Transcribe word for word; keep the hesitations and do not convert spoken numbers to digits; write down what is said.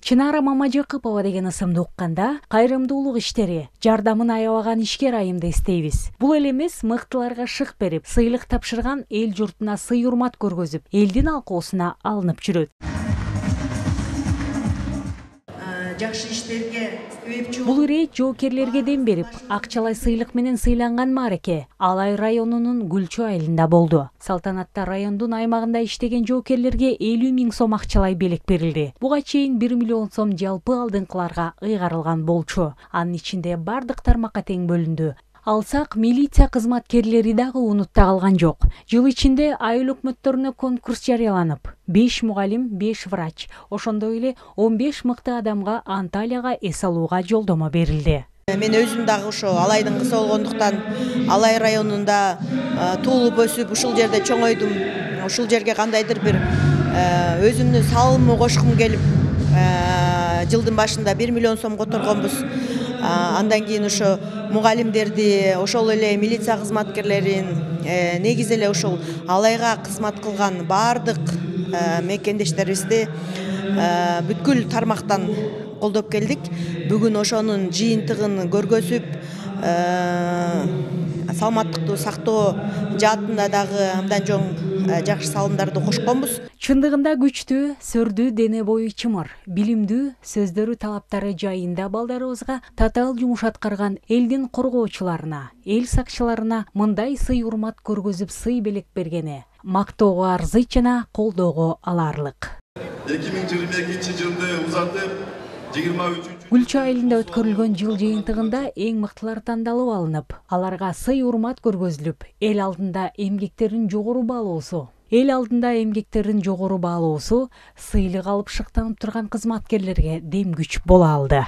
Чынара Мамажакыпова деген ысымды укканда кайрымдуулук иштери, жардамын аябаган ишкер айымды эстейбиз. Бул эле эмес, мыктыларга шык берип, сыйлык тапшырган, эл журтуна сый урмат көргөзүп, элдин алкоосуна алынып жүрөт. Жакшы иштерге Бул ирет жоокерлерге дем берип, акчалай сыйлык менен сыйланган маареке Алай районунун Гүлчү айылында болду. Салтанатта райондун аймагында иштеген жоокерлерге элүү миң сом акчалай белек берилди. Буга чейин бир миллион сом жалпы алдыңкыларга ыйгарылган болчу. Анын ичинде бардык тармакка тең бөлүндү. Алсак, милиция кызматкерлери дагы унутта калган жок. Жыл ичинде айыл өкмөттөрүнө конкурс жарыяланып, беш мугалим, беш врач, ошондой эле он беш мыкты адамга Анталияга эс алууга жолдомо берилди. Мен өзүм дагы ошо Алайдын кызы болгондуктан Алай районунда туулуп өсүп, ушул жерде чоңойдум. Ушул жерге кандайдыр бир өзүмдүн салымымды кошкум келип, жылдын башында бир миллион сом которгонбуз. Андан кийин ошо мугалимдерди, ошол эле милиция кызматкерлерин, негизи эле ошол Алайга кызмат кылган бардык мекендештерибизди бүткүл тармактан колдоп келдик. Бүгүн ошонун жыйынтыгын көргөзүп, саламаттыкты сактоо жаатында дагы абдан чоң жакшы салымдарды кошконбуз. Чындыгында күчтүү, сөрдүү дене бою чымыр, билимдүү, сөздөрү талаптары жайында балдарыбызга татаал жумуш аткарган элдин коргоочуларына, эл сакчыларына мындай сый урмат көргөзүп сый белек бергени мактоого арзыйт жана колдоого аларлык. эки миң жыйырма экинчи жылды узатып, жыйырма үчүнчү Гүлчү айылында өткөрүлгөн жыл жыйынтыгында эң мыктылар тандалып алынып, аларга сый урмат көргөзүлүп, эл алдында эмгектерин жогору баалоосу Эл алдында эмгектерин жогору баалоосу сыйлык алып шыктанып турган кызматкерлерге дем күч боло алды.